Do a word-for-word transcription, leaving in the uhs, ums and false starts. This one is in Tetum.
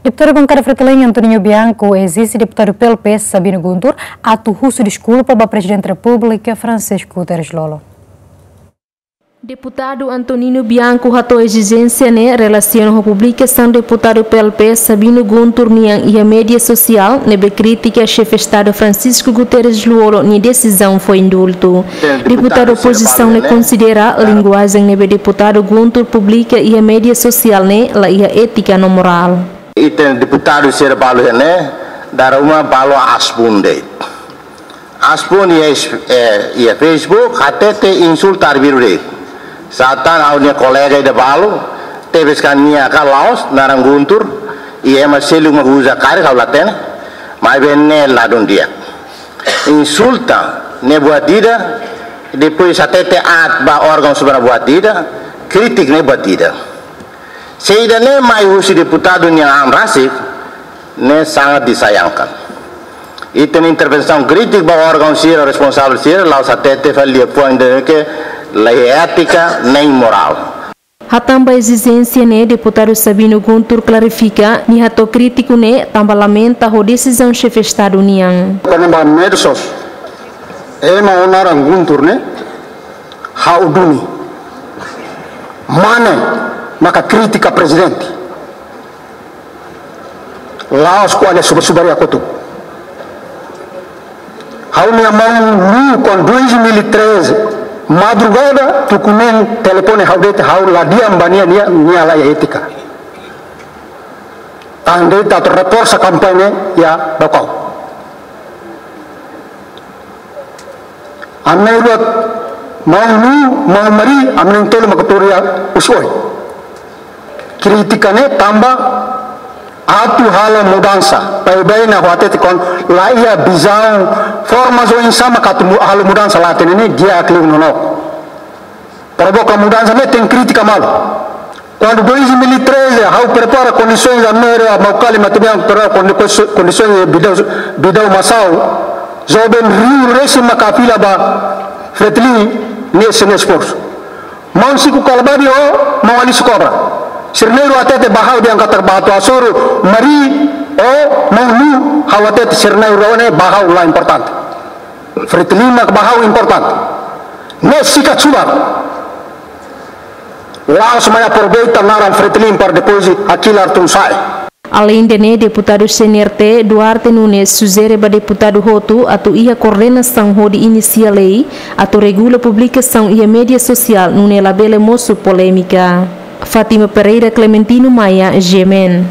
Deputadu Bankada Fretilin Antoninho Bianco ezije deputadu P L P Sabino Guntur atu husu deskulpa ba Prezidente Repúblika Francisco Guterres Lú-Olo. Deputadu Antoninho Bianco hato'o ezijénsia ne'e relasiona ho publikasaun deputadu P L P Sabino Guntur nian iha média sosiál ne'ebé kritika Xefe Estadu Francisco Guterres Lú-Olo nia desizaun fó indultu. Deputadu opozisaun ne'e konsidera linguajen ne'ebé deputadu Guntur publika iha média sosiál ne'e la iha étika no morál. Ita-nia deputadu sira balu ne'e, dala ruma balu aas-boot de'it. Aas-boot iha es-, eh, iha Facebook, hatete insulta arbiru de'it. Sá tan ha'u-nia kolega ida balu, tebes kan nia ka la'ós, naran Guntur, iha ema seluk mak uza karik ha'u la hatene, maibé ne'e ladún di'ak. Insulta ne'e buat ida, depois hatete aat ba órgaun sira buat ida, kritika ne'e buat ida. Se ida-ne'e mai husi deputadu nia an rasik, ne'e sangat disayangkan. Ita-nia intervensaun kritika ba órgaun sira responsavel sira, la'ós hatete fali liafuan ida ke la iha étika nem morál. Hatán ba ezijénsia ne'e, deputadu Sabino Guntur klarifika, nia hato'o krítiku ne'e tanba lamenta ho desizaun Xefe Estadu nian. Kona-ba medsos, ema ho naran Guntur ne'e, ha'u duni. Mane maka kritika Prezidente. La'ós ko'alia subar-subar iha kotuk. Ha'u-nia maun Lú, kuandu dois mil e treze, madrugada, tuku neen telefone ha'u de'it, ha'u la di'ak ba nia, nia, nia la iha étika. Tan de'it atu reforsa kampaña iha Baucau. Ami na'in-rua, maun Lú, maun Mari, ami na'in-tolu mak tuur iha husi oin. Kritika ne'e tanba atu halo mudansa. Baibain ha'u hatete kuandu la iha vizaun, forma oinsá mak atu mu-, halo mudansa la hatene ne'e, di'ak liu no nonook. Provoka mudansa ne'e tenke kritika malu. Kuandu dois mil e treze, ha'u prepara kondisoins, ami na'in-rua, Maukali, Mataniang, prepara kondi-, kondisoins Bidau, Bidau Masau, joven riu-resin maka fila ba Fretilin, ne'e sei-nia esforsu. Maun Siku Kalabadi ho maun Alisio Cobra. Sira na'in-rua hatete ba ha'u dehan katak bá atu hasoru Mari ho maun Lú, ha'u hatete sira na'in-rua ne'e ba ha'u la importante. Fretilin mak ba ha'u importante. Ne'e sikat subar. La'ós mai aproveita naran Fretilin para depois hakilar tun sa'e. Aleinde ne'e, deputadu C N R T, Duarte Nunes, sujere ba deputadu hotu atu iha koordenasaun hodi inisia lei atu regula publikasaun iha média sosiál nune'e labele mosu polémika. Fátima Pereira, Clementino Maia, G M N.